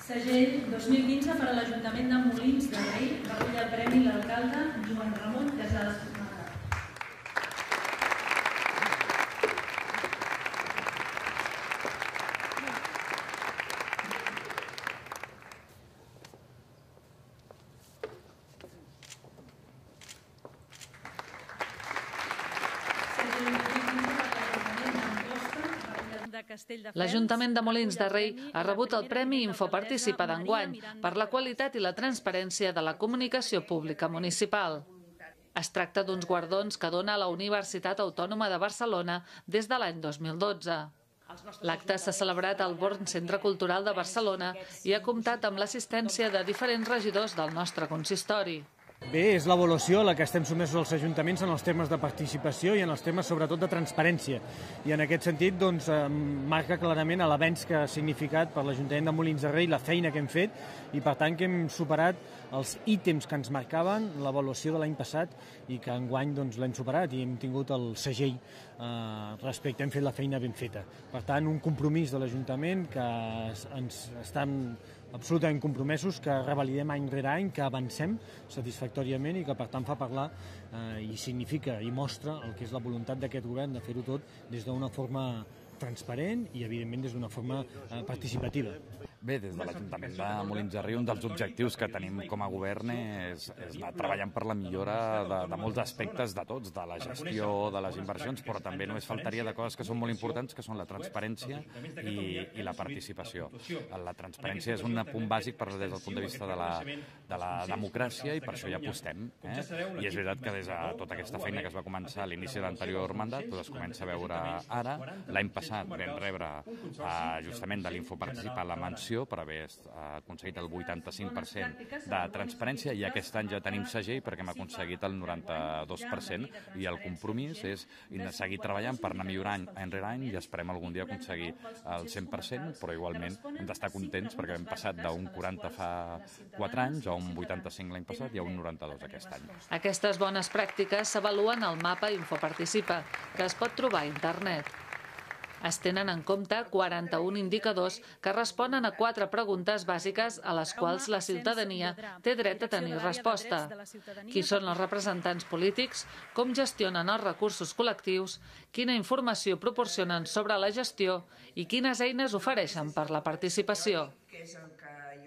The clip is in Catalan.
Segell 2015 per a l'Ajuntament de Molins de Rei, recull el premi l'alcalde Joan Ramon Casals. L'Ajuntament de Molins de Rei ha rebut el Premi Infoparticipa d'enguany per la qualitat i la transparència de la comunicació pública municipal. Es tracta d'uns guardons que dona la Universitat Autònoma de Barcelona des de l'any 2012. L'acte s'ha celebrat al Born Centre Cultural de Barcelona i ha comptat amb l'assistència de diferents regidors del nostre consistori. Bé, és l'avaluació a la que estem sotmesos els ajuntaments en els temes de participació i en els temes sobretot de transparència. I en aquest sentit doncs, marca clarament l'avenç que ha significat per l'Ajuntament de Molins de Rei la feina que hem fet i per tant que hem superat els ítems que ens marcaven l'avaluació de l'any passat i que enguany doncs, l'hem superat i hem tingut el segell respecte, hem fet la feina ben feta. Per tant, un compromís de l'Ajuntament que ens estan absolutament compromesos, que revalidem any rere any, que avancem satisfactòriament i que per tant fa parlar i significa i mostra el que és la voluntat d'aquest govern de fer-ho tot des d'una forma transparent i evidentment des d'una forma participativa. Bé, des de l'Ajuntament de Molins de Rei, un dels objectius que tenim com a govern és anar treballant per la millora de molts aspectes de tots, de la gestió, de les inversions, però també només faltaria de coses que són molt importants, que són la transparència i la participació. La transparència és un punt bàsic des del punt de vista de la democràcia i per això hi apostem. I és veritat que des de tota aquesta feina que es va començar a l'inici de l'anterior mandat es comença a veure ara. L'any passat vam rebre justament de l'Infoparticipa la menció per haver aconseguit el 85% de transparència i aquest any ja tenim segell perquè hem aconseguit el 92% i el compromís és seguir treballant per anar millorant any rere any i esperem algun dia aconseguir el 100%, però igualment hem d'estar contents perquè hem passat d'un 40 fa 4 anys a un 85 l'any passat i a un 92 aquest any. Aquestes bones pràctiques s'avaluen al mapa Infoparticipa, que es pot trobar a internet. Es tenen en compte 41 indicadors que responen a 4 preguntes bàsiques a les quals la ciutadania té dret a tenir resposta. Qui són els representants polítics? Com gestionen els recursos col·lectius? Quina informació proporcionen sobre la gestió? I quines eines ofereixen per la participació?